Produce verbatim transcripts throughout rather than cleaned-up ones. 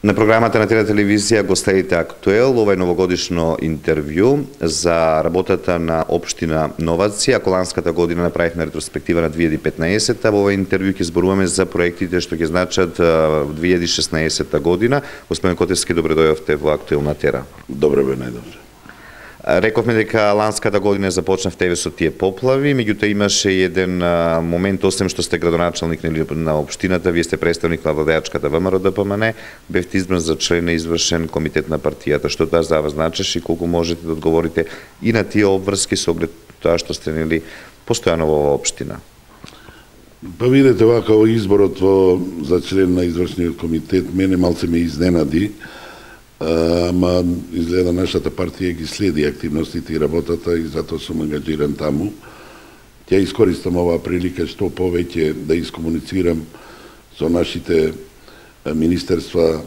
На програмата на Тера телевизија го следите Актуел, ова е новогодишно интервју за работата на општина Новаци. Ако ланската година направивме ретроспектива на две илјади и петнаесетта, во овој интервју ќе зборуваме за проектите што ќе значат две илјади и шеснаесетта година. Господин Котевски, добре дојдовте во Актуел на Тера. Добре бе, најдобре. Рековме дека ланската година започнавте со тие поплави, меѓутоа имаше еден момент, освен што сте градоначалник на општината, вие сте представник на владеачката ВМРО Д П М Н, бевте избран за член на извршен комитет на партијата. Што тоа за вас значеше и колку можете да одговорите и на тие обврски со оглед тоа што сте нели постојано во оваа општина? Па видете, вака изборот во за член на извршниот комитет мене малце ме изненади. Ама изгледа нашата партија ги следи активностите и работата и затоа сум ангажиран таму. Ќе искористам оваа прилика што повеќе да искомуницирам со нашите министерства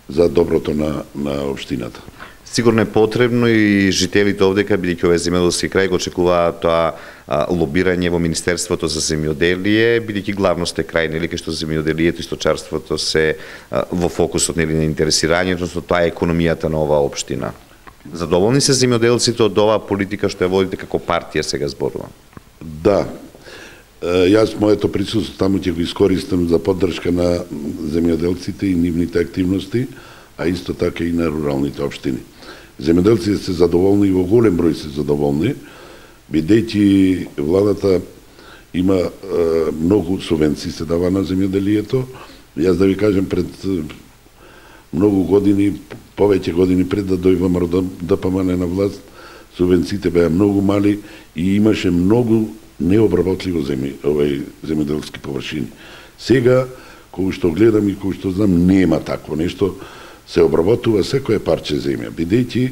за доброто на, на општината. Сигурно е потребно и жителите овдека, бидејќи овој земјоделски крај го очекуваат тоа а, лобирање во Министерството за земјоделие, бидејќи главно сте крај, нели, кај што земјоделието и сточарството се а, во фокусот, нели, на интересирање, односно тоа е економијата на оваа општина. Задоволни се земјоделците од оваа политика што ја водите како партија, сега зборувам? Да. Јас моето присуство таму ќе го искористам за поддршка на земјоделците и нивните активности, а исто така и на руралните општини. Земјоделците се задоволни и во голем број се задоволни, бидејќи владата има е, многу субвенции се дава на земјоделието. Јас да ви кажем, пред многу години, повеќе години пред да дојде ВМРО Д П М Н на власт, субвенциите беа многу мали и имаше многу необработливо земји, овој земјоделски површини. Сега, кога што гледам и кога што знам, нема такво нешто. Се обработува секое парче земја, бидејќи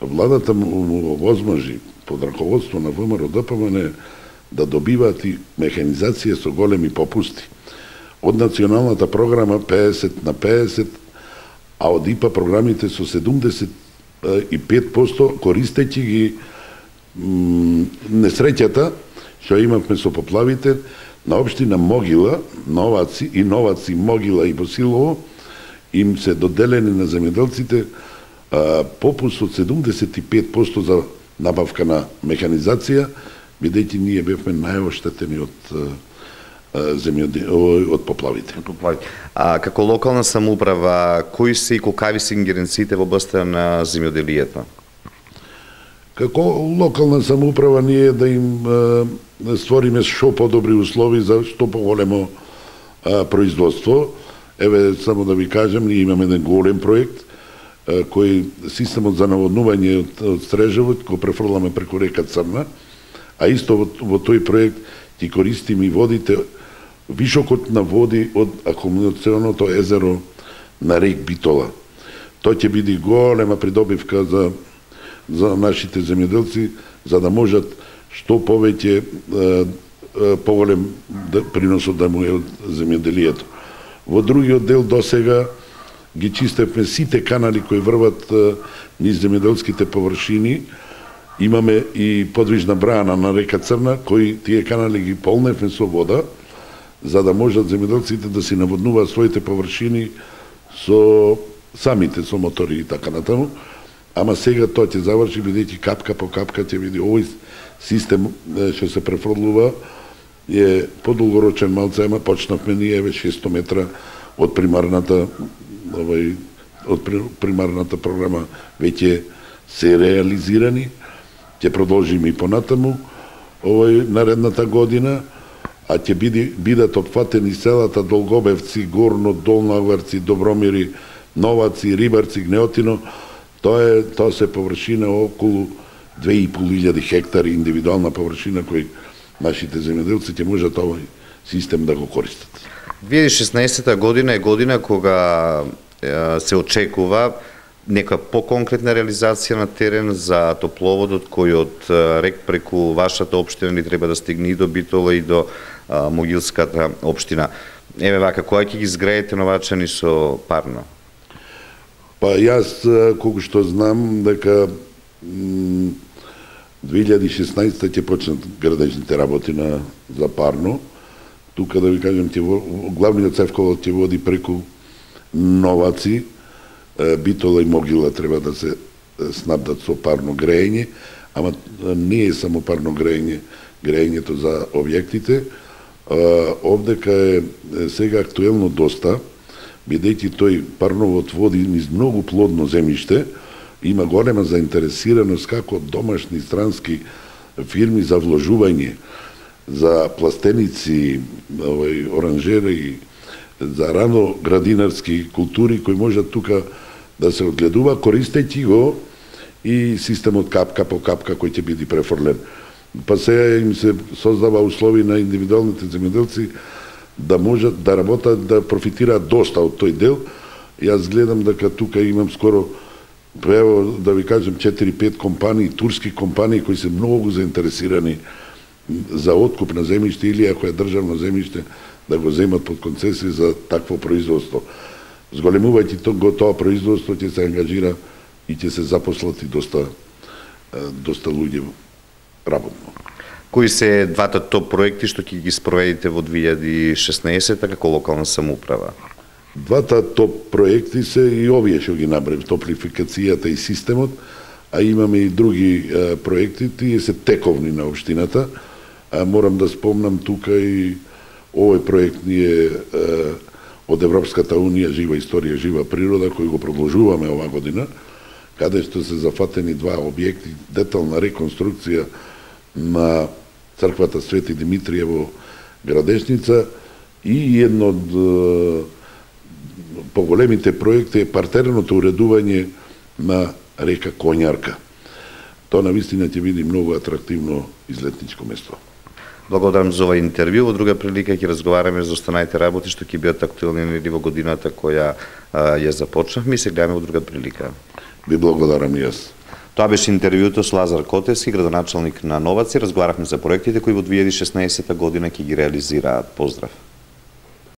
владата му возможи под раководство на ВМРО Д П М Н да добиваат и механизација со големи попусти. Од националната програма педесет на педесет, а од И П А програмите со седумдесет и пет проценти, користејќи ги несреќата што имавме со поплавите на општина Могила, Новаци и Новаци, Могила и Босилово, им се доделени на земјоделците попуст од седумдесет и пет проценти за набавка на механизација, бидејќи ние бевме најоштетени од земјоделие, од поплавите. А како локална самоуправа, кои се и колкави се ингеренциите во областта на земјоделието? Како локална самоуправа ние да им е, створиме што подобри услови за што поголемо е, производство. Еве, само да ви кажем, ние имаме еден голем проект, е, кој системот за наводнување од, од Стрежевот го префрламе преку река Црна, а исто во, во тој проект ќе користиме и водите, вишокот на води од акумулационото езеро на рек Битола. Тоа ќе биде голема придобивка за за нашите земјоделци, за да можат што повеќе поголем приносот да му е од земјоделието. Во другиот дел досега ги чистевме сите канали кои врват низ земјоделските површини. Имаме и подвижна брана на река Црна, кои тие канали ги полневме со вода, за да можат земјоделците да си наводнуваат своите површини со самите, со мотори и така натаму. Ама сега тоа ќе заврши, бидејќи капка по капка ќе види овој систем што се префрлува е подолгорочен малце, ама почнавме ние еве шесто метра од примарната овој од примарната програма веќе се реализирани. Ќе продолжиме и понатаму овој наредната година, а ќе биде бидат опфатени селата Долгобевци, Горно, Долнаварци, Добромири, Новаци, Рибарци, Гнеотино. Тоа е, тоа се површина околу две и пол илјади хектари индивидуална површина кои нашите земјоделци ќе можат овој систем да го користат. две илјади и шеснаесетта година е година кога е, се очекува нека поконкретна реализација на терен за топловодот кој од рек преку вашата општина ни треба да стигне и до Битола и до а, Могилската општина. Еве вака, која ќе ги изградите Новачани со парно? Па јас, колку што знам, дека две илјади и шеснаесетта ќе почнат градежните работи на за парно. Тука да ви кажем, главниот цевковод ќе води преку Новаци, Битола и Могила треба да се снабдат со парно грејење, ама не е само парно грејење, грејењето за објектите. Овдека е сега актуелно доста, бидејќи тој парновод води низ многу плодно земјиште, има голема заинтересираност како домашни странски фирми за вложување, за пластеници, овој оранжери, за рано градинарски култури кои можат тука да се одгледува, користејќи го и системот капка по капка кој ќе биде префрлен. Па сега им се создава услови на индивидуалните земјоделци да можат да работат, да профитираат доста од тој дел. Јас гледам дека тука имам скоро, ево да ви кажем, четири-пет компании, турски компании кои се многу заинтересирани за откуп на земјиште или ако е државно земјиште да го земат под концесија за такво производство. Зголемувајќи го тоа производство ќе се ангажира и ќе се запослати доста доста луѓе работно. Кои се двата топ проекти што ќе ги спроведите во две илјади и шеснаесетта како локална самоуправа? Двата топ проекти се и овие што ги набрав, топлификацијата и системот, а имаме и други а, проекти, тие се тековни на општината. А, морам да спомнам тука и овој проект ние а, од Европската унија Жива историја, жива природа, кој го продолжуваме ова година, каде што се зафатени два објекти, детална реконструкција на црквата Свети Димитрije во Градешница и едно од поголемите проекти е партерното уредување на река Конјарка. Тоа навистина ќе биде многу атрактивно излетничко место. Благодарам за ова интервју. Во друга прилика ќе разговараме за останатите работи што ќе бидат актуелни во годината која а, ја започнавме и се гледаме во друга прилика. Ви благодарам и јас. Тоа беше интервјуто со Лазар Котевски, градоначалник на Новаци. Разговаравме за проектите кои во две илјади и шеснаесетта година ќе ги реализираат. Поздрав!